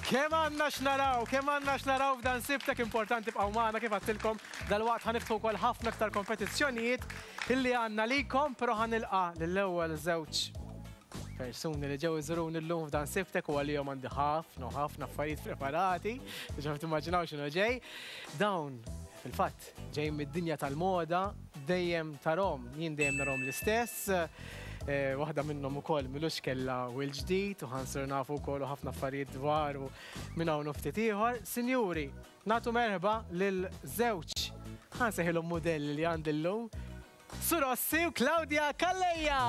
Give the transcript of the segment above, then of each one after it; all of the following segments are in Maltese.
Kemm għandna x'naraw, kemm għandna x'naraw f'dan Sibtek importanti bqgħu magħna kif għedtilkom dalwaqt ħa niftħu wkoll ħafna aktar kompetizzjonijiet illi għandna likom, però ħa nilqa' lill-ewwel żewġ persuni li ġew iżuruni llum f'dan Sibtek u għalihom għandi ħafna u ħafna affarijiet preparati, diġà timmaġinaw x'inhu ġej. Dawn fil-fatt ġejjin mid-dinja tal-moda, dejjem tarhom, jien dejjem narhom l-istess. Waħda minnhom ukoll milux kellha wild ġdid u ħansir nafu wkoll u ħafna affarijiet dwaru minn hawn u ftit ieħor. Sinjuri, nagħtu merħba lil żewġ ħansejħilhom mudelli li għandi llum, Su Rossi u Claudia Calleja!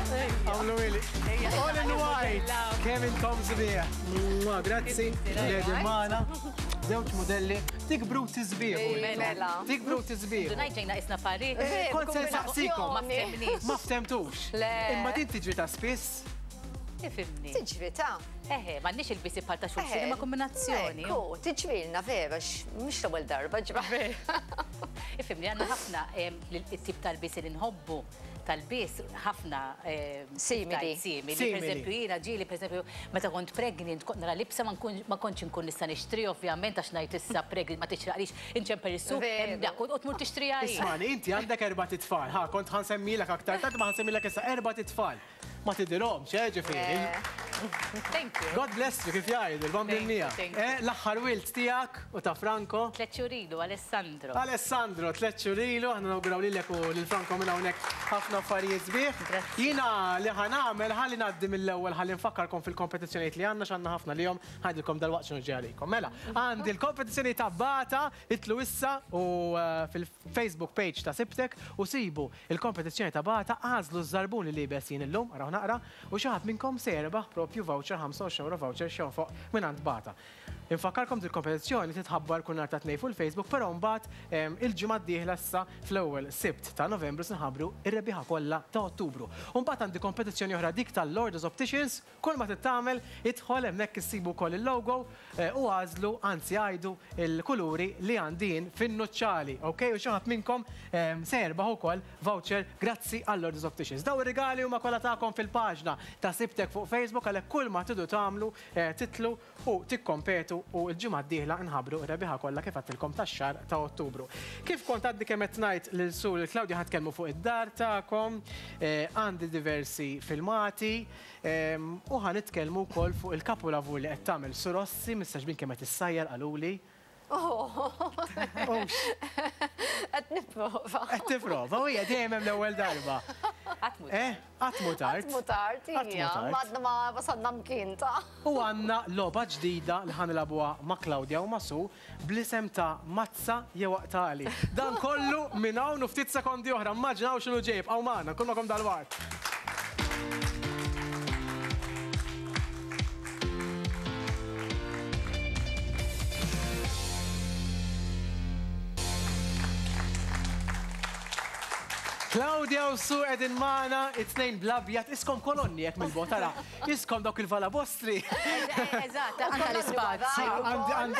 Għamlu ili. All in white. Kemm intom sbieħ. Grazzi. Lady Mana. Żewġ modelli. Tikbru tisbieħ. Mela. Tikbru tisbieħ. Dunaj ġejna isna pari. Eh, kont se nsaqsikom. Ma ftemniex. Ma ftemtux. Imma din tiġri ta' spiss. Ifimni. Tiġri ta'. Eħe, m'għandniex il-bisi bħal ta' xulxin, imma kombinazzjoni. Ekku, tiġrilna vera, mhux l-ewwel darba ġra. Ifimni, għandna ħafna it-tip tal-bisi li nħobbu tal-bis ħafna simili. Simili. Per eżempju, jiena ġieli, per eżempju, meta kont pregnant, kont nara libsa ma kontx inkun nista' nixtri, ovvjament, għax ngħid issa pregnant ma tixraqlix, inċemper is-suq, hemm dak, u tmur tixtriha hi. Ismagħni, inti għandek erbat itfal, ħa, kont ħa nsemmilek aktar tard, imma ħa nsemmilek issa erbat itfal. Ma tidhirhomx, eh, ġifieri. Thank you. God bless you, kif jgħidu, l-Bambin miegħek. Eh, l-aħħar wild tiegħek u ta' Franco. Tlet xhur ilu, Alessandro. Alessandro, tlet xhur ilu, aħna nawguraw lilek u lil Franco minn hawnhekk ħafna affarijiet sbieħ. Jiena li ħa nagħmel ħalli ngħaddi mill-ewwel ħalli nfakkarkom fil-kompetizzjonijiet li għandna x'għandna ħafna lihom, ħa ngħidilkom dalwaqt x'inhu ġej għalikom. Mela, għandi l-kompetizzjoni ta' Bata, itlu issa u eh, fil-Facebook page ta' Sibtek u sibu Il-kompetizzjoni ta' Bata għażlu ż-żarbun li liebes jien illum, araw naqra, u xi ħadd minnkom se jerbaħ propju voucher 25 ewro voucher x'jonfoq mingħand Bata. Infakkarkom dil-kompetizzjoni titħabbar kull nhar ta' Tnejn fuq il-Facebook però mbagħad il-ġimgħa d-dieħla issa fl-ewwel Sibt ta' Novembru se nħabbru r-rebbieħa kollha ta' Ottubru. U mbagħad għandi kompetizzjoni oħra dik tal-Lordos Opticians Kull ma trid tagħmel, idħol hemmhekk issibu wkoll il-logo u agħżlu, anzi għidu l-kuluri li għandi jien fin-nuċċali, ok? U xi ħadd minnkom se jerbaħ ukoll voucher grazzi għal Lourdes Opticians. Dawn ir-rigali huma kollha tagħkom fil-paġna ta' Sibtek fuq Facebook għalhekk kull ma tridu tagħmlu titlu u tikkompetu u l-ġimgħa d-dieħla nħabbru r-rebbieħa kollha kif għedtilkom tax-xahar ta' Ottubru. Kif kont għadni kemm qed ngħid lil Sue u lil Claudia ħa tkellmu fuq id-dar tagħkom, għandi diversi filmati u ħa nitkellmu wkoll fuq il-kapulavur li qed tagħmel Sue Rossi, mistagħġbin kemm qed issajjar qaluli. Qed nipprova. Qed tipprova, u hija dejjem hemm l-ewwel darba. Qatt mhu Eh, qatt mhu tard. Qatt mhu tard, hija. Għadna ma wasalna mkien ta'. U għandna logħba ġdida li ħa nilagħbuha ma' Claudia u ma' Sue bl-isem ta' Mazza jew Aqtagħli. Dan kollu minn hawn u ftit sekondi oħra. Immaġinaw x'inhu ġej, ibqgħu magħna, nkun magħkom dalwaqt. Claudia u Su qegħdin magħna, it-tnejn bl-abjad, iskom kolonni hekk mill-bogħod tara. Iskom dawk il-valabostri. Eżatt, għandna l-ispazju.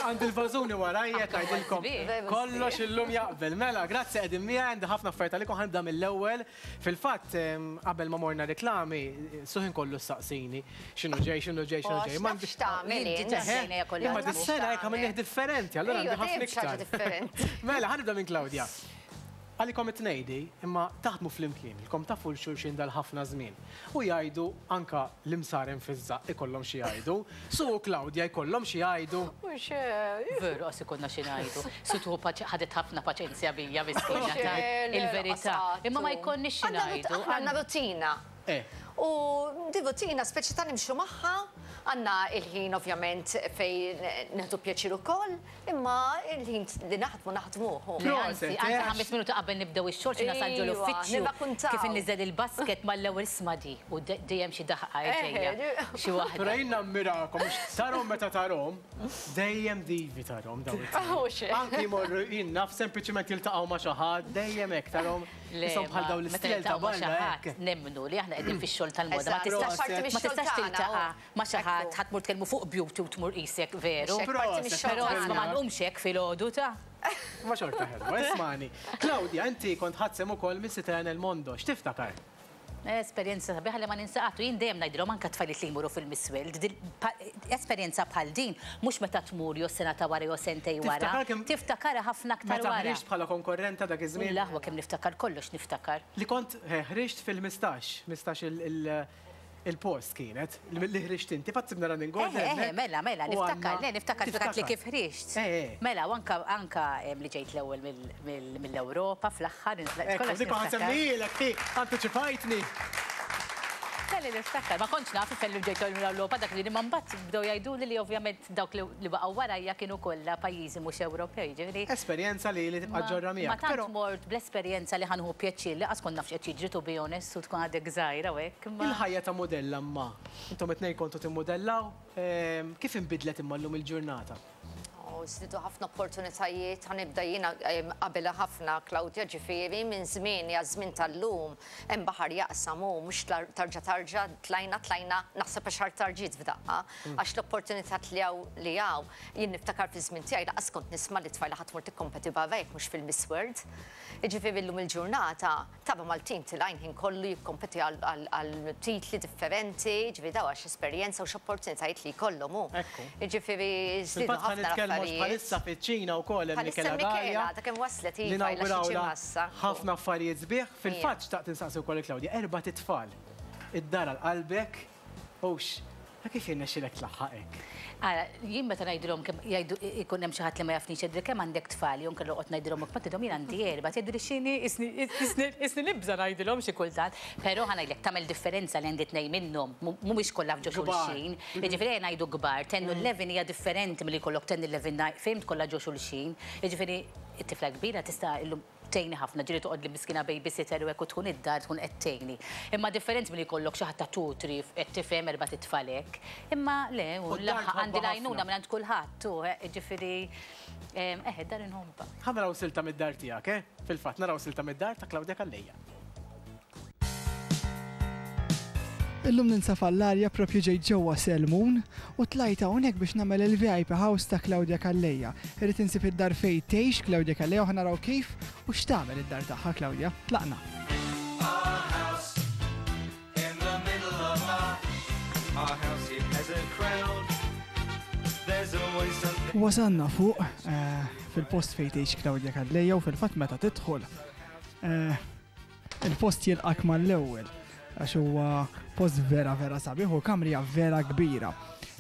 Għandi l-vażuni warajja tgħidilkom. Kollox illum jaqbel. Mela, grazzi qegħdin miegħi għandi ħafna affarijiet għalikom ħanibda mill-ewwel. Fil-fatt, qabel ma morna reklami, Suħin kollu staqsini, x'inhu ġej, x'inhu ġej, x'inhu ġej. Ma x'tagħmel Imma dis-sena hekk għamilnieh differenti, allura għandi ħafna iktar. Mela, ħa nibda minn Claudia. Għalikom it-tnejn di, imma taħdmu flimkien, ilkom tafu 'l xulxin dal-ħafna żmien. U jgħidu anke l-imsaren fiż-żaqq ikollhom xi jgħidu. Sue u Claudia jkollhom xi jgħidu. Mhux hekk. Veru qas ikollna xi ngħidu. Sue tieħu paċ ħadet ħafna paċenzja bija miskina ta' il-verità. Imma ma jkollniex xi ngħidu. Aħna għandna rutina. U din rutina speċi ta' nimxu magħha, għandna il-ħin ovvjament fejn nieħdu pjaċir ukoll. Imma il-ħin li naħdmu naħdmuh. Le anzi, anzi ħames minuti qabel nibdew ix-xogħol xi nasal ġol uffiċċju kif inniżel il-basket mal-ewwel isma' di u dejjem xi daħqa ġejja. Xi waħda. Però jien nammirakom għax tarhom meta tarhom, dejjem divi tarhom dawn it-tnejn. Anki jmorru jien naf sempliċiment jiltaqgħu ma' xi ħadd, dejjem hekk tarhom. Ishom bħal dawn l-istiel ta' barra hekk. Nemmnu li aħna qegħdin fix-xogħol tal-moda ma tistax tiltaqa' Ma' xi ħadd, ħa tmur tkellmu fuq beauty u tmur qisek veru. Però isma' ma nqumx hekk filgħodu ta'. Ma xorta ħelwa, ismagħni. Claudia, inti kont ħadt sehem ukoll Miss Italia nel Mondo, x'tiftakar? Esperjenza sabiħa li ma ninsa qatt u jien dejjem ngħidilhom anke t-tfajliet li jmorru fil-Miss World, esperjenza bħal din mhux meta tmur jew sena ta' wara jew sentejn wara, tiftakarha ħafna aktar wara. Meta ħriġt bħala konkorrenta dak iż-żmien? L-aħwa kemm niftakar kollox niftakar. Li kont ħriġt fil-ħmistax, 15 il-post kienet, li ħriġt inti, fatt sibna running order. Eħe, mela, mela, niftakar, le, niftakar fil li kif ħriġt. Mela, u anka anka li ġejt l-ewwel mill-Ewropa fl-aħħar. Ekku, dik ħa nsemmilek, ti, antiċipajtni. Kelli niftakar, ma kontx naf fellu ġejt mill-Ewropa dak li imma mbagħad bdew jgħiduli li ovvjament dawk li baqgħu warajja kienu kollha pajjiżi mhux Ewropej, ġifieri. Esperjenza li li tibqa' ġorra miegħek. Ma tant mort bl-esperjenza li ħa nieħu pjaċir li qas kont naf x'qed jiġri to be honest u tkun għadek żgħira u hekk. Il-ħajja ta' mudella imma, intom it-tnejn kontu timmudellaw, kif inbidlet imma llum il-ġurnata? Oh, żdiedu ħafna opportunitajiet, ħa nibda jiena qabilha ħafna Claudia ġifieri minn żmieni għaż-żmien tal-lum hemm baħar jaqsam u mhux tarġa' tarġa' tlajna tlajna naħseb għaxar tarġiet f'daqqa għax l-opportunitat li hawn li hawn jien niftakar fiż-żmien tiegħi lanqas kont nisma' li tfajla ħa tmur tikkompeti barra jekk mhux fil-Miss World. Jiġifieri llum il-ġurnata Taba Maltin tilgħin ħin kollu jikkompeti għal titli differenti, jiġifieri dawn għax esperjenza u x'opportunitajiet li jkollhom hu. Ekku. Jiġifieri żdiedu Fil-fatt ħa ħafna nitkellmu għax l-affarijiet. bħalissa fiċ-Ċina wkoll hemm Bħalissa Michela hemm Michela, Gaia għadha kemm waslet li iva ilha xi nawgurawlha ġimgħa issa. ħafna affarijiet sbieħ. Fil-fatt xtaqt insaqsi wkoll lil Claudia, erbat itfal. Id-dar għal qalbek, hux? Ta' kif jirnexxilek tlaħħaq hekk? Ara, jien meta ngħidilhom kemm jgħidu jkun hemm xi ħadd li ma jafnix jgħidli kemm għandek tfal jew inkella noqgħod ngħidilhom hekk ma tgħidilhom jien għandi erbgħa tgħidli x'inhi isni isni isni nibża' ngħidilhom xi kultant. Però ħa ngħidlek tagħmel differenza li għandi tnejn minnhom mhumiex kollha f'ġo xulxin. Jiġifieri ejja ngħidu kbar, ten u 11 hija differenti milli jkollok ten, 11, nine, fhimt kollha ġo xulxin. Jiġifieri t-tifla l-kbira tista' illum tgħinni ħafna, ġieli toqgħodli miskina babysitter u hekk u tkun id-dar tkun qed tgħinni. Imma differenti milli jkollok xi ħadd ta' two, three, qed tifhem erbat itfal hekk. Imma le, u l-aħħar għandi l-għajnuna mingħand kulħadd u jiġifieri eħe d-dar inħobbha. Ħa naraw silta mid-dar tiegħek, eh? Fil-fatt, naraw silta mid-dar ta' Claudia Calleja. Illum ninsab għall-arja propju ġejt ġewwa Selmun u tlajt hawnhekk biex nagħmel il-VIP House ta' Claudia Calleja. Irrid insib id-dar fejn tgħix Claudia Calleja u ħa naraw kif u x'tagħmel id-dar tagħha Claudia. Tlaqna. Wasalna fuq eh, fil-post fejn tgħix Claudia Calleja u fil-fatt meta tidħol eh, Il-post jilqak mal-ewwel għax huwa post vera vera sabiħ u kamrija vera kbira.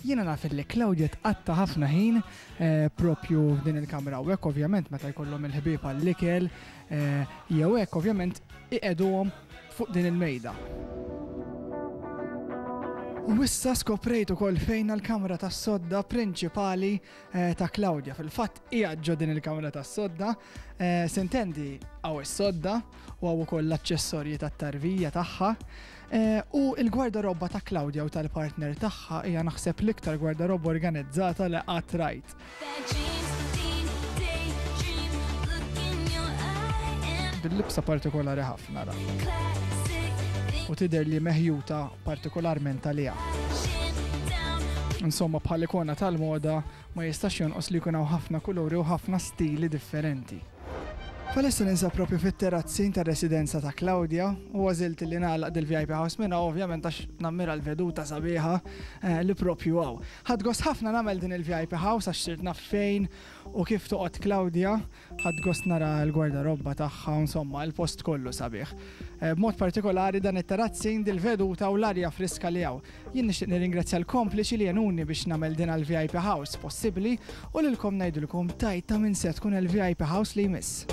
Jiena naf li Claudia tqatta ħafna ħin eh, propju f'din il-kamra u hekk ovvjament meta jkollhom il-ħbieb għall-ikel eh, jew hekk ovvjament iqegħduhom fuq din il-mejda. U issa skoprejt ukoll fejn l-kamra tas-sodda prinċipali eh, ta' Claudia. Fil-fatt qiegħed ġo din il-kamra tas-sodda, sintendi hawn is-sodda u hawn ukoll l-aċċessorji tat-tarbija tagħha. Eh, u l-gwardarobba ta' Claudia u tal-partner tagħha hija naħseb l-iktar gwardarobba organizzata li qatt rajt. Bil-libsa partikolari ħafna ra. U tidher li meħjuta partikolarment għaliha. Insomma, bħal ikona tal-moda ma jistax jonqos li jkun hawn ħafna kuluri u ħafna stili differenti. Bħalissa ninsab propju fit-terazzin tar-residenza ta' Claudia u għażilt li nagħlaq dil-VIP House minn hawn ovvjament għax nammira l-veduta sabiħa eh, li propju hawn. Ħadt gost ħafna nagħmel din il-VIP House għax sirt naf fejn u kif toqgħod Claudia, ħadt gost nara l-gwardarobba tagħha, insomma, il-post kollu sabiħ. Eh, b'mod partikolari dan it-terazzin, dil-veduta u l-arja friska li hawn. Jien nixtieq nirringrazzja l-kompliċi li għenuni biex nagħmel din għall-VIP House possibbli u lilkom ngħidilkom tgħid ta' min se tkun il-VIP House li jmiss.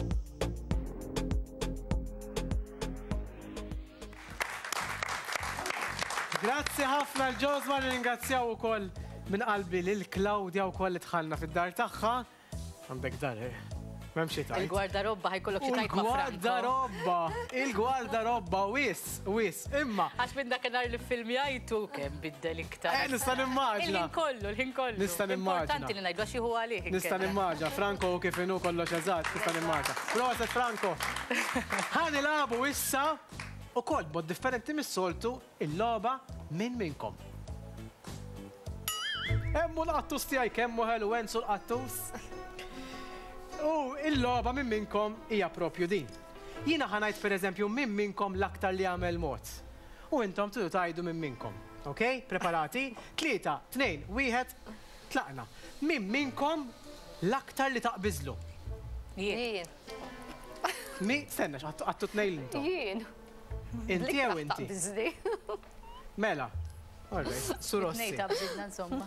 Grazzi ħafna l-Ġosma, nirringrazzjaw ukoll minn qalbi lil Claudia wkoll li dħalna fid-dar tagħha. Għandek dar, eh? M'hemm xi tgħid. Il-gwardarobba ħajkollok xi tgħid ma' Franco. Il-gwardarobba, il-gwardarobba wis, wis, imma. Għax minn dakinhar li ffilmjajtu kemm biddel iktar. Eh, nista' nimmaġina. Il-ħin kollu, il-ħin kollu. Nista' nimmaġina. Importanti li ngħidu għax jieħu għalih. Nista' nimmaġina, Franco kif inhu kollox eżatt, nista' nimmaġina. Proset Franco. Ħa nilagħbu issa ukoll b'mod differenti mis-soltu Il-logħba min minnkom? Hemm hu l-qattus tiegħi kemm hu ħelu Enzu l-qattus. U il-logħba min minnkom hija propju din. Jiena ħa ngħid pereżempju min minnkom l-aktar li għamel mod. u intom tridu tgħidu min minnkom. Ok? Preparati? Tlieta, tnejn, wieħed, tlaqna. Min minnkom l-aktar li taqbiżlu? Jien. Mi, stenna, għattu tnejn intom. Jien. Inti jew inti? Taqbiżli. Mela. All right, Su Rossi. Tnejn taqbiżna insomma.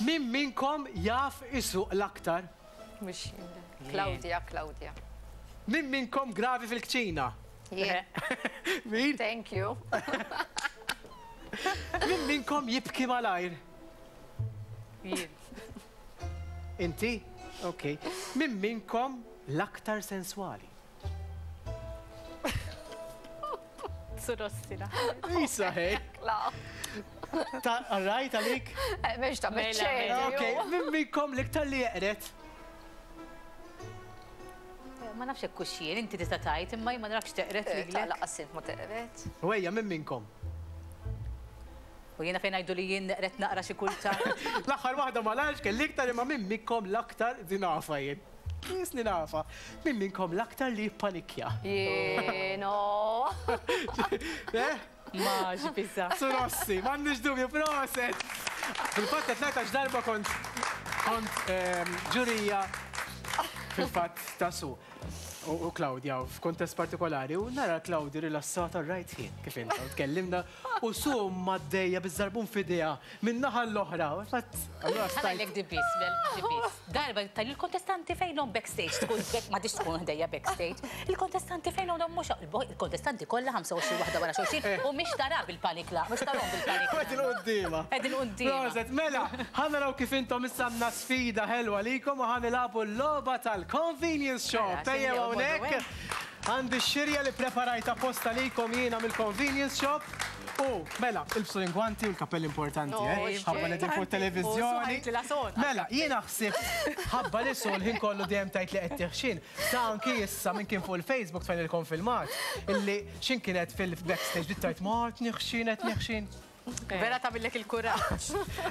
Min minnkom jaf isuq l-aktar? Mhux jien. Claudia, Claudia. Min minnkom gravi fil-kċina? Jien. Min? Thank you. Min minnkom jibki malajr? Jien. Inti? Ok. Min minnkom l-aktar senswali? Surossi la. Isa, hej. La. Ta' rajt għalik? Mhux ta' Mela, meċċedi. Ok. Min minnkom l-iktar li jeqret? Ma nafx hekk hux jien, inti tista' tgħid, imma jien ma narakx teqret Ta' lilek. laqas int ma teqret. U ejja, min minnkom? U jiena fejn ngħidu li jien neqret naqra xi kultant. L-aħħar waħda ma nafx kelli iktar imma min minnkom l-aktar din nafa jien. Jisni nafa. Min minnkom l-aktar li jippanikja? Jien, oh. Eh? Ma x'biża. Su Rossi, m'għandix dubju, proset! Fil-fatt qed ngħid għax darba kont kont ġurija fil-fatt ta' Su u Claudia f'kuntest partikolari u nara Claudia rilassata right here kif inta u tkellimna u Su maddejja biż-żarbun f'idejha minn naħa l-oħra. Fatt, allura stajt. Ħanajlek di biss, bel, di biss. Darba tal il-kontestanti fejnhom backstage, tkun back, ma tix tkun ħdejja backstage. Il-kontestanti fejnhom dawn mhux il-kontestanti kollha 25 waħda wara xulxin u mhix tara bil-panikla, mhux tarahom bil-panikla. Qegħdin quddiemha. Qegħdin quddiemha. Proset, mela, ħa naraw kif intom issa għandna sfida ħelwa likom u ħa nilagħbu l-logħba tal-convenience shop. Mela, Tejjew xejn hawnhekk. Għandi x-xirja li preparajt apposta likom jiena mill-convenience shop. U, mela, ilbsu l-ingwanti u l-kappell importanti, No, eh? Ħabba li fuq televizjoni. U suħajt li la son. Mela, jiena ħsibt ħabba li sol ħin kollu dejjem tajt li qed tiħxin. Sa anki issa minn kien fuq il-Facebook tfajnilkom filmat illi x'in kienet fil-backstage bdiet tajt ma qed niħxin qed niħxin. Vera tagħmillek il-kuraġġ.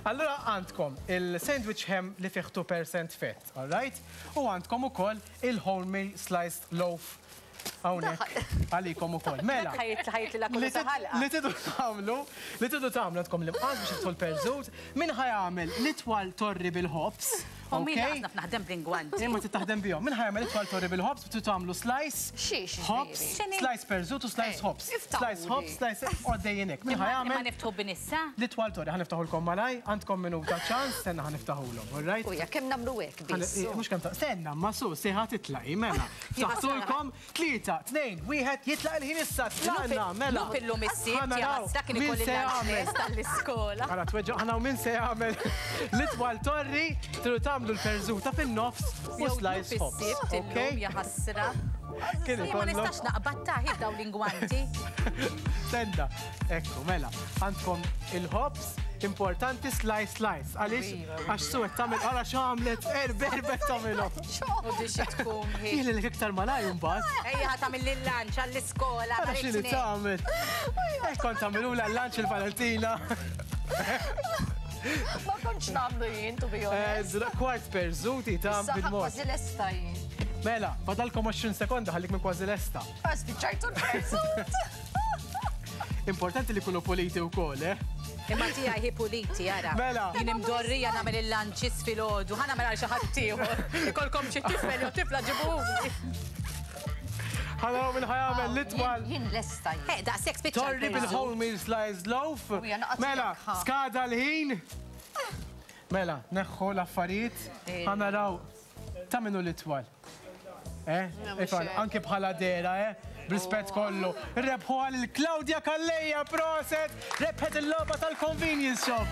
Allura għandkom il-sandwich ham li fih 2% fat, all right? U għandkom ukoll il-wholemeal sliced loaf hawnhekk għalikom ukoll. Mela. Ħajt ħajt li la Li kullu tid- taħalqa. li tidu tagħmlu, li tidu tagħmlu għandkom l-imqas biex tidħol perżut, min ħa jagħmel l-itwal torri bil-ħobż, U min ok? naf naħdem bl-ingwanti. Imma trid taħdem bihom. Min ħa jagħmel itwal torri bil-ħobż, tridu tagħmlu slice, Xiex, ħobż, ġifieri? slice perżut u slice Eh, ħobż. iftaħuli. Slice ħobż, slice għoddejjinek. Min ħa Imma jagħmel niftħu bin issa. l-itwal torri, ħa niftaħulkom malaj, għandkom minuta ċans, stenna ħa niftaħulhom, all right? Uja, kemm nagħmlu hekk biss. Mhux kemm ta' stenna, ma su, siħa titlaqi, mela. Ftaħtulkom, tlieta, tnejn, wieħed, jitlaq il-ħin issa, tlaqna, mela. Lup illum is-sibt, Ħa naraw dak kien min ikolli se jagħmel. l-għax tal-iskola. Għala tweġġa, ħana min se jagħmel l-itwal torri, tridu tagħmlu l-perżuta fin-nofs u slice Jew ħobż. is-sibt illum Ok? ja ħasra. Kien Ma ikollok- nistax naqbad taħi daw l-ingwanti. Senda, ekku, mela, għandkom il-ħobż, importanti slice slice. Għaliex, għax su qed tagħmel għala x'għamlet, erbe erbe tagħmilhom. U di xi tkun hi. Jien li iktar malaj mbagħad. Ejja ħa tagħmel lil-lunch għall-iskola. Ara x'inhi tagħmel. Hekk kont tagħmilula l-lunch il-Valentina. Ma kontx nagħmlu jien, to be honest. Kwart perżuti ta' Issa ħa bil-mod. kważi lesta jien. Mela, fadalkom 20 sekonda ħallik minn kważi lesta. Spiċċajtu l-perżut. Importanti li kunu puliti wkoll, eh? Imma tiegħi hi puliti, ara. Mela. Jien imdorrija nagħmel il-lunches filgħodu, ħa nagħmel għal xi ħadd ieħor. Ikolkom xi tifel jew tifla ġibuhuli. Ħa naraw min ħa jagħmel l-itwal. Jien lesta jien. Eh, daqshekk spiċċa. Torri l-perżut. bil-wholemeal sliced loaf. Uja, naqgħod Mela, jekk, ha. skada l-ħin. Mela, neħħu l-affarijiet. Ħa naraw ta' minnu l-itwal. Eh? Ifan, anke bħala dera, eh? B'rispett kollu. Rebħu għal Claudia Calleja, proset! Rebħet il-logħba tal-convenience shop.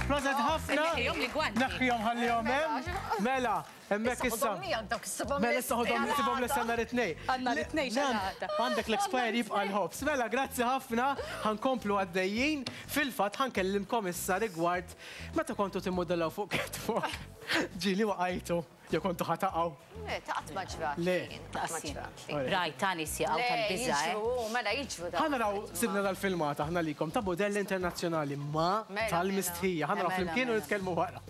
Proset ħafna. Neħħihom l-ingwanti. Neħħihom ħallihom hemm. Mela, hemmhekk issa. Dawk is-sibhom Mela issa ħodhom sibhom l-issa nhar it-tnejn. Għandna l-tnejn xalata. Għandek l-expire jibqa' l-ħobż. Mela, grazzi ħafna, ħa nkomplu għaddejjin. Fil-fatt ħa nkellimkom issa rigward meta kontu timmodellaw fuq catwalk. Ġieli waqajtu, jew kontu ħa taqgħu. Le, ta' qatt ma ġrat. Le. Qatt ma ġrat. Raj, ta' nies jaqgħu Le, tal-biża', eh. jiġru, mela jiġru. Ħa naraw sibna dal-filmata aħna likom ta' modelli internazzjonali ma Mela, tal-mistħija. Ħa naraw Mela, flimkien u mela. nitkellmu wara.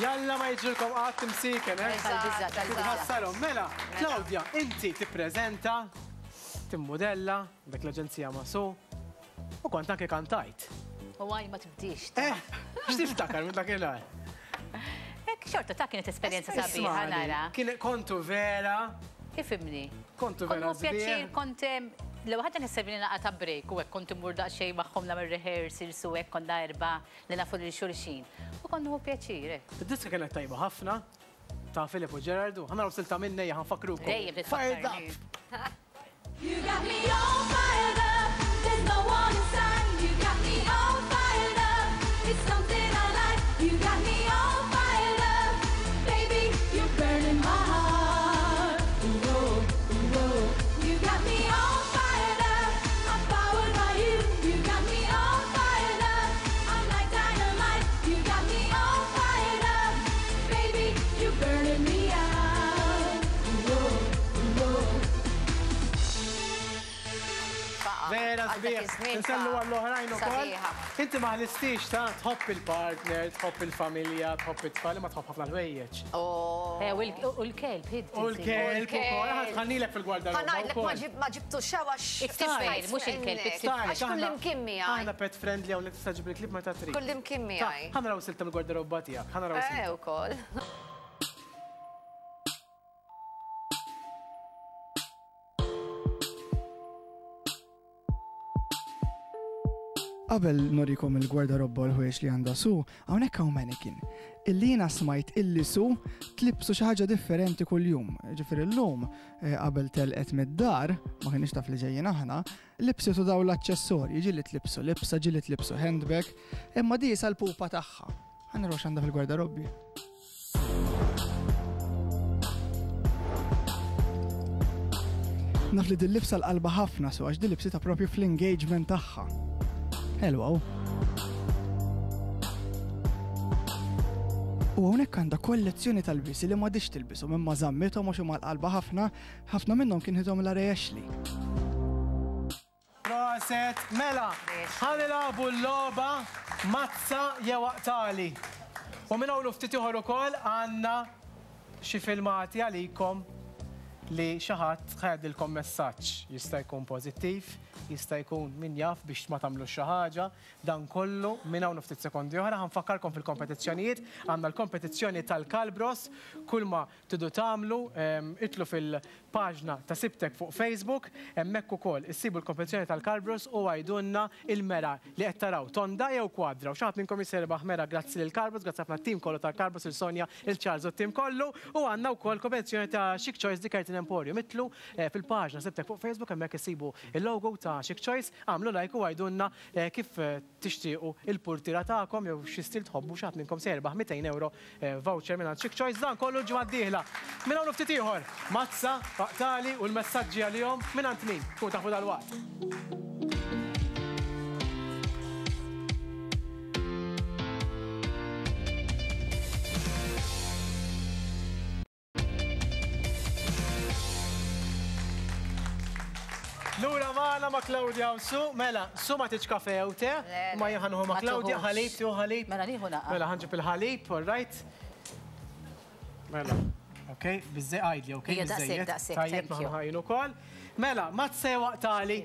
Jalla ma jiġrilkom qatt imsieken, eh? Tal-biża', tal-biża'. Tħassarhom. Mela, Claudia, inti tippreżenta, timmudella, dak l-aġenzija ma' Su, u kont anke kantajt. U għaj ma tibdix. Eh, x'tiftakar minn dakinhar? Hekk xorta ta' kienet esperjenza sabiħa nara. Kien kontu vera. Ifimni. Kontu vera. Kont pjaċir kont l-ewwel ħaġa nħisseb li naqa' ta' break u hekk kont immur daqsxejn magħhom nagħmel rehearsals u hekk konna erbgħa li nafu lil xulxin. U kont nieħu pjaċir hekk. Id-diska kienet tajba ħafna ta' Filip u Gerard u ħa naraw silta minn ejja ħa nfakkrukom. Dejjem Fired titfakkarni. up! You got me all fired up. There's no one inside. You got me all fired up. It's something I like. You got me all fired up. Baby, you're burning my heart. Ooh, oh, ooh, oh. You got me all fired up. I'm powered by you. You got me all fired up. I'm like dynamite. You got me all fired up. Baby, you're burning me out. Ooh, oh, ooh, oh. Vera Għal dak sbieħ. iż-żmien Insellu ta' għall-oħrajn ukoll. sabiħa. Inti ma ħlistix ta' tħobb il-partner, tħobb il-familja, tħobb it-tfal, ma tħobb ħafna l-ħwejjeġ. Oh. Eh, U l-kelb, id. U l-kelb ukoll, ħa tħannilek fil-gwardarobba Ħa ngħidlek ma wkoll. ġib- ma ġibtu xawa It-tifel, mhux il-kelb, it-tifel. Għax kull imkien miegħi. Aħna pet friendly hawnhekk tista' ġib il-klieb meta trid. Kull imkien miegħi. Ħa naraw silta mill-gwardarobba tiegħek, ħa naraw Eh, silta. ukoll. Qabel norikom il-gwardarobba u l-ħwejjeġ li għandha Su, hawnhekk hawn mannequin. Illi jiena smajt illi Su tlibsu xi ħaġa differenti kuljum. Ġifieri llum eh, qabel telqet mid-dar, ma kienx taf li ġejjin aħna, libsitu daw l-aċċessorji, ġieli tlibsu libsa, ġieli tlibsu handbag, imma di issa l-pupa tagħha. Ħa naraw x'għandha fil-gwardarobbi. Naf li dil-libsa l-qalba ħafna su għax dil-libsita propju fl-engagement tagħha. Hello. U hawnhekk għandha kollezzjoni tal-bisi li m'għadix tilbishom imma żammithom għax huma l-qalba ħafna, ħafna minnhom kien ħithom la Ashley. Proset, mela, ħa nilagħbu l-logħba mazza jew aqtali. U minn hawn u ftit ieħor ukoll għandna xi filmati għalikom li xi ħadd ħa jgħaddilkom messaġġ. Jista' jkun pożittiv, jista' jkun min jaf biex ma tagħmlux xi ħaġa. Dan kollu minn hawn u ftit sekondi oħra ħa nfakkarkom fil-kompetizzjonijiet. Għandna l-kompetizzjoni tal-Kalbros, kull ma tridu tagħmlu, idħlu fil-paġna ta' Sibtek fuq Facebook, hemmhekk ukoll issibu l-kompetizzjoni tal-Kalbros u għidulna il-mera li qed taraw tonda jew kwadra. U xi ħadd minnkom jista' jirbaħ mera grazzi lil Kalbros, grazzi ħafna t-tim kollu tal-Kalbros, il Sonja, il Charles u t-tim kollu. U għandna wkoll kompetizzjoni ta' Chic Choice di Curtain Emporium. Idħlu fil-paġna Sibtek fuq Facebook, hemmhekk issibu il-logo ta' Chic Choice, għamlu like u għidulna kif tixtiequ il-portiera tagħkom jew xi stil tħobbu xi ħadd minnkom se jirbaħ 200 euro voucher minn Chic Choice. Dan kollu l-ġimgħa d-dieħla. Minn hawn u ftit ieħor, mazza, aqtali u l-messaġġi għalihom minn għand min? Tkun tafu dalwaqt. Lura magħna ma' Claudia u Su, mela, Su ma tiġ kafe jew te, Le, le. ma jien ħa nieħu ma' Ma Claudia, tuħux. ħalib, tieħu ħalib. Mela nieħu naqa. Mela ħa nġib il-ħalib, all right. Mela, ok, biżej għajdli, ok, Ija, daqshekk, biżejjed. daqshekk, Tajjeb, thank you. ħajn ukoll. Mela, ma tsejwaq tali.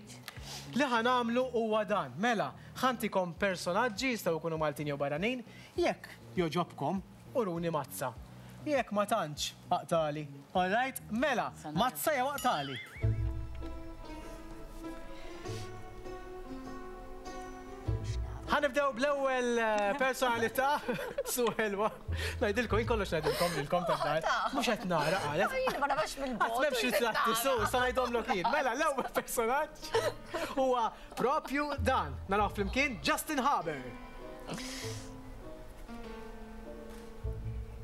Li ħa nagħmlu huwa dan. Mela, ħa ntikom personaġġi jistgħu jkunu Maltin jew barranin, jekk joġobkom, uruni mazza. Jekk ma tantx, aqtali. All right, mela, mazza jew aqtali. Ħa nibdew bl-ewwel personalità, su ħelwa. Ngħidilkom, jien kollox ngħidilkom lilkom tad-dar. Mhux qed nara qalet. Jien ma nafx mill-bogħod. Qatt m'hemmx ritratti su, sa ngħidhomlok jien. Mela, l-ewwel personaġġ huwa propju dan. Naraw flimkien Justin Haber.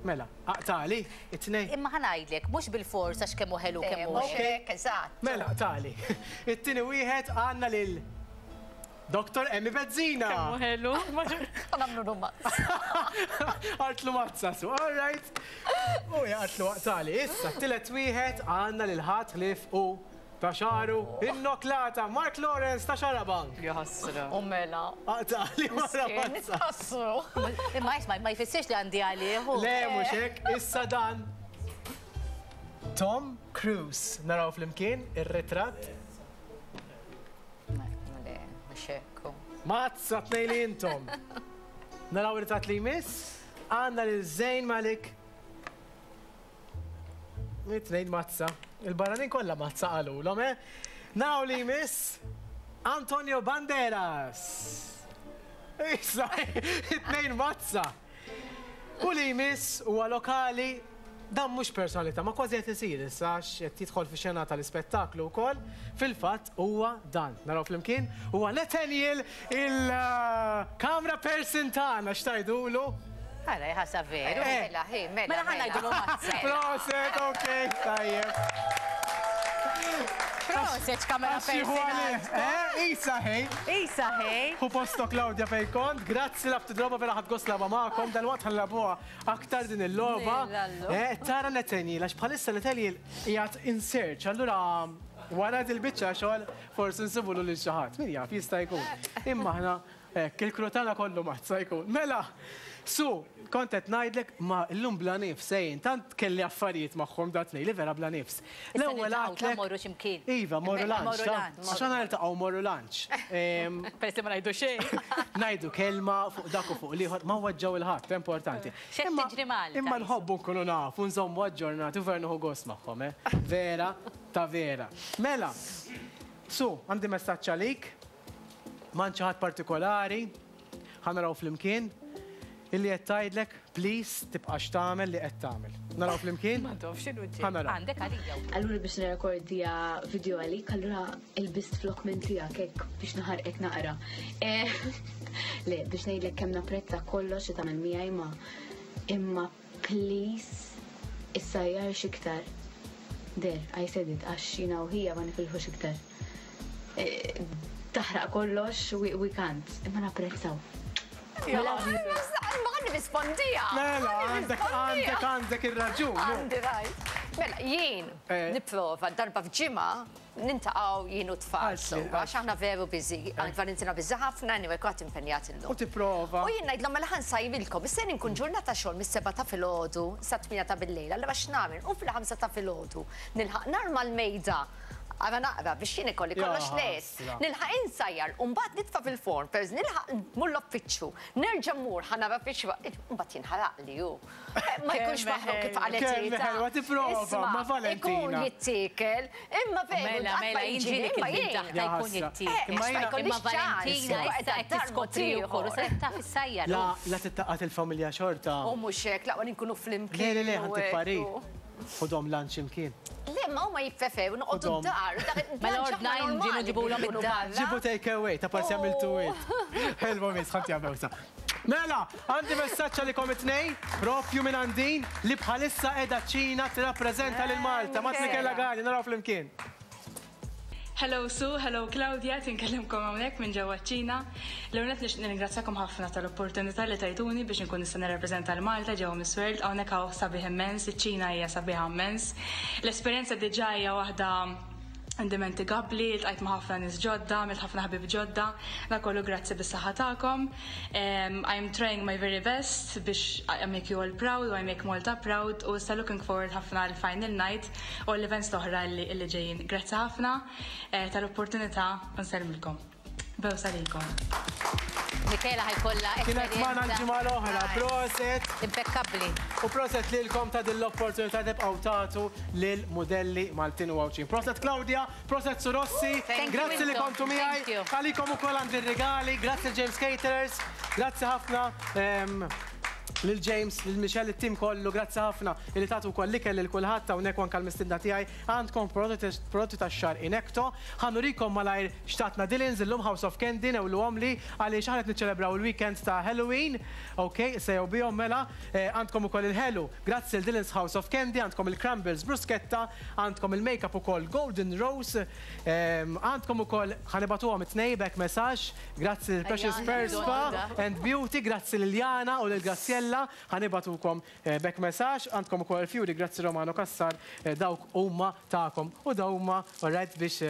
Mela, aqtali, it-tnejn. Imma ħa ngħidlek, mhux bil-fors għax kemm hu ħelu kemm hu. Mhux hekk, eżatt. Mela, aqtali. It-tieni wieħed għandna lil Dr. Emmy Bezzina. Kemm hu ħelu. Ħa nagħmlu rumazz. Għartlu mazza su, all right. U jgħartlu aqtali. Issa, t-tielet wieħed għandna lil ħadd ħlief u Ta' xagħru, innoklata, Mark Lawrence ta' Xarabank. Jaħasra. U mela. Aqtagħli wara Miskin, mazza. nitħassru. Imma isma' ma jfissirx li għandi għalih. Le, mhux hekk, issa dan. Tom Cruise. Naraw flimkien ir-ritratt. Le, mhux hekk. Mazza tnej li intom. Naraw ir-ritratt li jmiss. Għandna lil Zayn Malik. It-tnejn mazza. Il-barranin kollha mazza qalulhom, eh? Naraw li jmiss Antonio Banderas. Issa, it-tnejn mazza. U li jmiss huwa lokali dan mhux personalità, ma kważi qed isir issa għax qed jidħol fi xena tal-ispettaklu wkoll. Fil-fatt huwa dan. Naraw flimkien huwa Nathaniel il-camera person tagħna x'tajdulu. Ara, jħassa veru. Mela, hi, mela. Mela ħa ngħidulu mazza. Proset, ok, tajjeb. Proset, camera Għax jieħu person. għalih, eh? Isa ħej. Isa ħej. Hu postok Claudia fej kont, grazzi laf tidroba vera ħadt gost lagħba magħkom, dal-waqt ħa nilagħbuha aktar din il-logħba. Nillallu. Eh, tara Nathaniel, għax bħalissa Nathaniel qiegħed in search, allura wara dil-biċċa xogħol forsi nsibulu lil xi ħadd, min jaf jista' jkun. Imma aħna hekk il-crew tagħna kollu mazza jkun. Mela, su, kont qed ngħidlek ma llum bla nifs, ejn, tant kelli affarijiet magħhom dat li vera bla nifs. L-ewwel niltaqgħu, ta' għedtlek- morru x'imkien. Iva, morru Mela, lunch. morru ta' lunch. Għax aħna niltaqgħu morru lunch. Peress li ma ngħidu xejn. Ngħidu kelma fuq dak u fuq l-ieħor, ma waġġaw il-ħadd, importanti. X'qed Imma- tiġri Malta, Imma issa? nħobbu nkunu nafu, nżommu aġġornati u vera nieħu gost magħhom, eh? Vera, ta' vera. Mela, su, għandi messaġġ għalik, m'għand xi ħadd partikolari, ħa naraw flimkien, illi qed tgħidlek, please, tibqax tagħmel li qed tagħmel. Naraw flimkien? Ma tafx x'inhu ġej. Ħa naraw. Għandek għalija. Allura biex nirrekordja video għalik, allura ilbist flok minn tiegħek hekk biex naħarqek naqra. Le, biex ngħidlek kemm napprezza kollox li tagħmel miegħi ma imma please issajjarx iktar. There, I said it, għax jiena u ħija ma nifilħux iktar. Taħraq kollox, we can't, imma napprezzaw. We love you. Ma ħa nirrispondija. Mela, għandek, għandek, għandek ir-raġun. no? Għandi rajt. Mela, jien nipprova darba f'ġimgħa niltaqgħu jien u tfal. Għaltli, So, għax aħna veru busy, Valentina busy ħafna, anyway, kont impenjat illum. U tipprova. U jien ngħidlhom mela ħa nsajrilkom, issa nkun ġurnata xogħol mis-7 ta' filgħodu sa 8 ta' billejl, allura x'nagħmel? U fil-5 ta' filgħodu nilħaq narma l-mejda. Għara naqra biex jien ikolli kollox Ja, lest. ħasra. Nilħaq insajjar, u mbagħad nitfa' fil-forn, perż nilħaq mmur l-uffiċċju, nerġa' mmur ħa nara fiex mbagħad jinħaraq li hu. Ma jkunx Kemm maħruq kif qalet Kemm Rita. ħelwa tipprova, Isma' ma Valentina. Ikun jittiekel, imma veru, Mela, qatt ma mela, jiġri, jinġilik imma il-bint jien. taħta Ja, jkun ħasra. jittiekel. Imma Ma jiena- jkollix Imma Valentina ċans. issa qed tiskopri wkoll u se taf issajjar. La, la tittaqat il-familja xorta. U mhux hekk, laqwa nkunu flimkien. Le, le, le, u ħantik hekk, parir. u- Ħudhom lunch imkien. Le, ma huma jippreferu noqogħdu Ħudhom. d-dar. Mela ordnajn ġinu ġibulhom id-dar. Ġibu take away, ta' parsi għamiltu it. Ħelwa mis, ħanti għamewsa. Mela, għandi messaġġ għalikom it-tnej, propju minn għandin, li bħalissa edha ċina tirrappreżenta lil Malta. Mat Michela Gani, naraw flimkien. Hello Sue, hello Claudia, tinkellimkom hawnhekk minn ġewwa ċ-Ċina. L-ewwel nett nixtieq nirringrazzjakom ħafna tal-opportunità li tajtuni biex nkun nista' nirrappreżenta l Malta ġewwa Miss World. Hawnhekk hawn sabiħ immens, iċ-Ċina hija sabiħa immens. L-esperjenza diġà hija waħda indimentikabli, iltqajt ma' ħafna nies ġodda, għamilt ħafna ħabib ġodda, da kollu grazzi bis-saħħa tagħkom. I'm trying my very best biex I make you all proud u I make Malta proud u issa looking forward ħafna għal final night u l-events l-oħra li ġejjin. Grazzi ħafna tal-opportunità u nsellmilkom. Bewsa lilkom. Michela ħa jkollha Kienet magħna l-ġimgħa l-oħra, proset. Impeccabli. U proset lilkom ta' din l-opportunità tibqgħu tagħtu lil modelli Maltin u Għawdxin. Proset Claudia, proset Surossi, Thank you, grazzi li intom. kontu miegħi. Thank you. Għalikom ukoll għandi regali, grazzi James Caterers, grazzi ħafna. Lil James, lil Michelle, it-tim kollu, grazzi ħafna li tagħtu wkoll l-ikel lil kulħadd hawnhekk anke l-mistiedna tiegħi għandkom prodotti tax-xar Inecto. Ħa nurikom malajr x'tatna Dylan's illum House of Candy newluhom li għaliex aħna qed niċċelebraw il-weekend ta' Halloween. Ok, sejjew bihom mela, għandkom ukoll il-ħelu. Grazzi l Dylan's House of Candy, għandkom il-crumbles bruschetta, għandkom il-makeup ukoll Golden Rose, għandkom ukoll ħa nibagħtuhom it-tnej back messaġġ, grazzi l Precious Ejja, Pearl Spa għandna. and Beauty, grazzi lil Jana u lil Graziella. Stella, ħa nibagħtukom back messaġġ, għandkom ukoll il-fjuri, grazzi Romano Cassar, dawk huma tagħkom u daw huma, alright, biex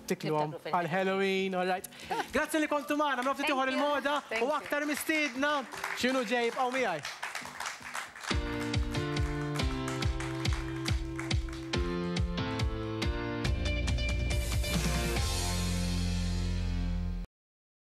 tikluhom għal Halloween, alright. Grazzi li kontu magħna, minn ftit ieħor il-moda u aktar mistiedna x'inhu ġej, ibqgħu miegħi.